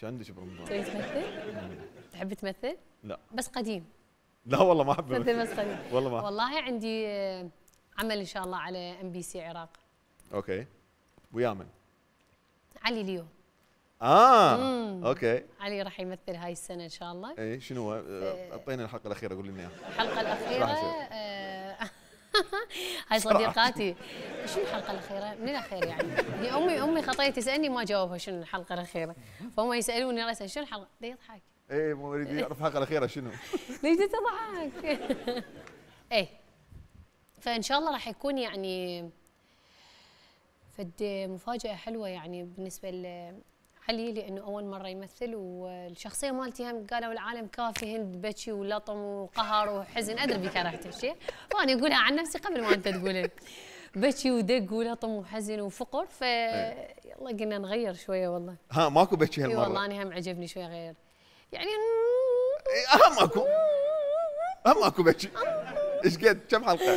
شو عندك برمضان؟ تبي تمثل؟ تحب تمثل؟ لا بس قديم. لا والله ما احب تمثل بس قديم. والله والله عندي عمل ان شاء الله على MBC عراق. اوكي. ويا من؟ علي ليو. اوكي. علي راح يمثل هاي السنه ان شاء الله. اي شنو هو؟ اعطينا الحلقه الاخيره قول لنا اياها. الحلقه الاخيره هاي صديقاتي. شنو الحلقه الاخيره؟ من الاخير يعني. هي امي خطيه تسالني ما جاوبها شنو الحلقه الاخيره. فهم يسالوني راسا شنو الحلقه؟ يضحك. اي مو يريد يعرف الحلقه الاخيره شنو؟ ليش تضحك؟ ايه فان شاء الله راح يكون يعني فد مفاجاه حلوه يعني بالنسبه علي لانه اول مره يمثل والشخصيه مالتي هم قالوا العالم كافي هند بكي ولطم وقهر وحزن ادري بكرهت الشيء وانا اقولها عن نفسي قبل ما انت تقولها بكي ودق ولطم وحزن وفقر يلا قلنا نغير شويه والله. ها ماكو بكي هالمره؟ والله انا هم عجبني شويه غير يعني اهم ماكو بكي. ايش قد كم حلقه؟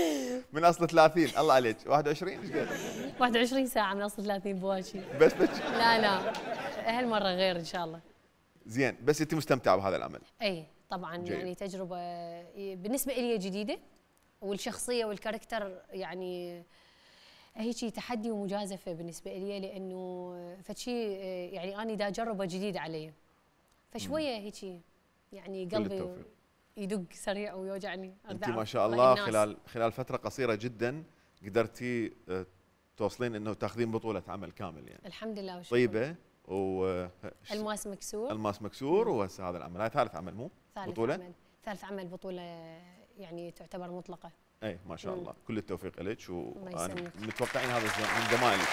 من اصل 30 الله عليك 21 ايش قد؟ 21 ساعه من اصل 30 بواكي بس بكي؟ لا هالمره غير ان شاء الله. زين بس انت مستمتعه بهذا العمل؟ اي طبعا جيد. يعني تجربه بالنسبه لي جديده والشخصيه والكاركتر يعني هيك تحدي ومجازفه بالنسبه لي لانه فشي يعني انا دا اجربه جديد علي فشويه هيك يعني قلبي يدق سريع ويوجعني. انت ما شاء الله خلال فتره قصيره جدا قدرتي توصلين انه تاخذين بطوله عمل كامل يعني. الحمد لله وشكرا. طيبه الماس مكسور. الماس مكسور وهسه هذا العمل هاي ثالث عمل مو؟ بطوله؟ ثالث عمل بطوله يعني تعتبر مطلقه. اي ما شاء الله كل التوفيق لك ومتوقعين هذا من زمايلك.